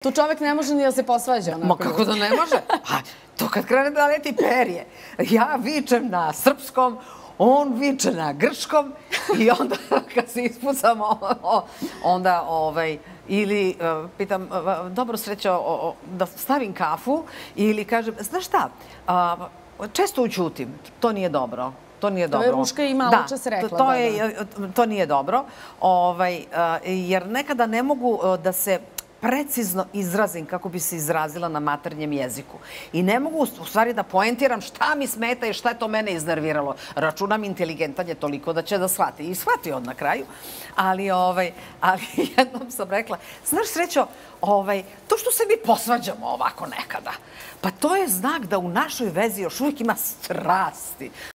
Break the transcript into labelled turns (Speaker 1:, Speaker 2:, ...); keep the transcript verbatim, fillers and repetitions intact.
Speaker 1: Tu čovek ne može ni da se posvađa.
Speaker 2: Ma kako da ne može? A to kad krene da leti perje. Ja vičem na srpskom, on viče na grčkom i onda kad se ispucamo, onda ovaj, ili pitam, dobro srećo, da stavim kafu ili kažem, znaš šta, često učutim, to nije dobro. To nije dobro.
Speaker 1: To je Ruška i malo čas rekla.
Speaker 2: To, je, to nije dobro, ovaj, jer nekada ne mogu da se precizno izrazim kako bi se izrazila na maternjem jeziku. I ne mogu u stvari da poentiram šta mi smeta i šta je to mene iznerviralo. Računam inteligentan je toliko da će da shvati. I shvati on na kraju. Ali, ovaj, ali jednom sam rekla, znaš Srećo, ovaj, to što se mi posvađamo ovako nekada, pa to je znak da u našoj vezi još uvijek ima strasti.